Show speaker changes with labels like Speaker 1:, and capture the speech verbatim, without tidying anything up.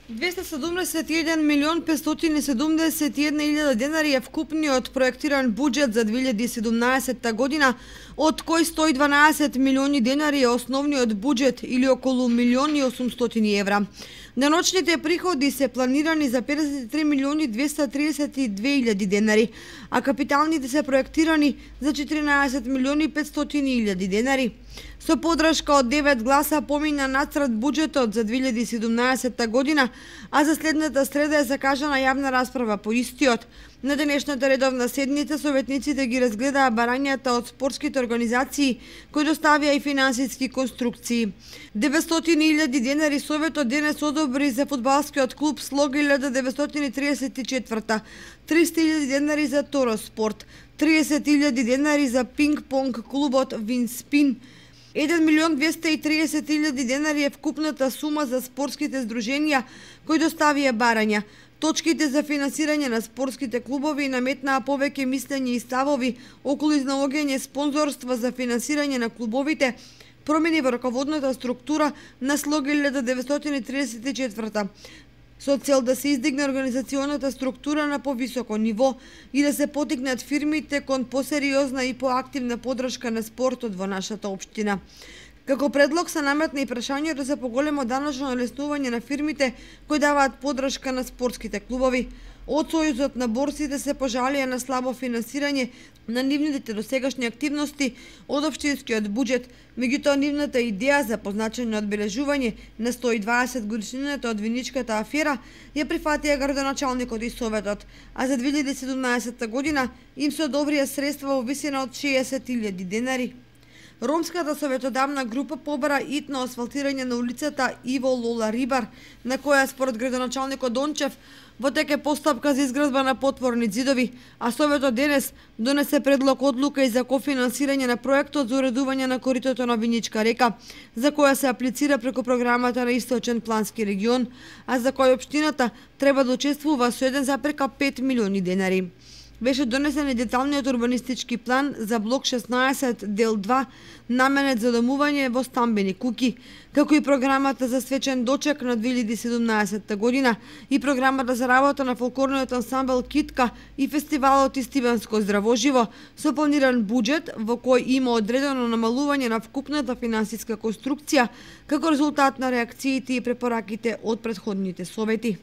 Speaker 1: двесте седумдесет и еден милион петстотини седумдесет и една илјада денари е вкупниот проектиран буџет за две илјади и седумнаесетта година, од кој сто и дванаесет милиони денари е основниот буџет или околу милион и осумстотини евра. Деночните приходи се планирани за педесет и три милиони двесте тридесет и две илјади денари, а капиталните се проектирани за четиринаесет милиони петстотини илјади денари. Со подршка од девет гласа помина нацрт буџетот за две илјади и седумнаесетта година, а за следната среда е закажана јавна расправа по истиот. На денешната редовна седница советниците ги разгледаа барањата од спортските организации кои доставија и финансиски конструкции. деветстотини илјади денари советот денес одобри за фудбалскиот клуб Слога илјада деветстотини триесет и четврта, триста илјади денари за Торо спорт, триесет илјади денари за пинг-понг клубот Винспин. еден милион двесте и триесет илјади денари е вкупната сума за спортските здруженија кои доставија барања. Точките за финансирање на спортските клубови наметнаа повеќе мислење и ставови околу изнаоѓање спонзорства за финансирање на клубовите, промени во раководната структура на Слога илјада деветстотини триесет и четврта, со цел да се издигне организационата структура на повисоко ниво и да се потикнат фирмите кон посериозна и поактивна поддршка на спортот во нашата општина. Како предлог се наметна и прашањето за поголемо даночно олеснување на фирмите кои даваат поддршка на спортските клубови. Од Сојузот на борсите се пожалија на слабо финансирање на нивните досегашни активности од општинскиот буџет, меѓутоа нивната идеја за позначено одбележување на сто и дваесет годишнината од виничката афера ја прифатија градоначалникот и советот, а за две илјади и седумнаесетта година им се одобрија средства во висина од шеесет илјади денари. Ромската советодавна група побара итно асфалтирање на улицата Иво Лола Рибар, на која според градоначалникот Дончев во тек е постапка за изградба на потворни ѕидови, а советот денес донесе предлог одлука и за кофинансирање на проектот за уредување на коритото на Виничка река, за која се аплицира преку програмата на Источен плански регион, а за кој општината треба да учествува со еден запирка пет милиони денари. Беше донесен и деталниот урбанистички план за блок шеснаесет дел два, наменет за домување во стамбени куќи, како и програмата за свечен дочек на две илјади и седумнаесетта година и програмата за работа на фолклорниот ансамбл Китка и фестивалот Истиванско здравоживо со планиран буџет во кој има одредено намалување на вкупната финансиска конструкција како резултат на реакциите и препораките од претходните совети.